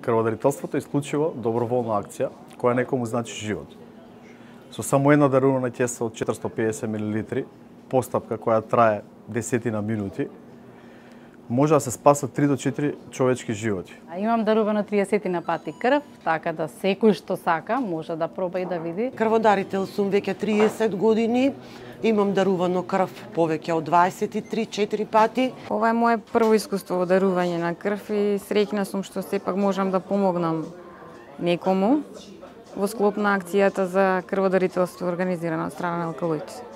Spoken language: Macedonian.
Крводарителството е исклучиво доброволна акција која некому значи живот. Со само една дарувана кеса од 450 мл, постапка која трае десетина минути, може да се спасат 3 до 4 човечки животи. Имам дарувано 30 пати крв, така да секој што сака може да проба и да види. Крводарител сум веќе 30 години. Имам дарувано крв повеќе од 23-4 пати. Ова е моje прво искуство во дарување на крв и среќна сум што сепак можам да помогнам некому во склоп на акцијата за крводарителство организирана од страна на алкалоици.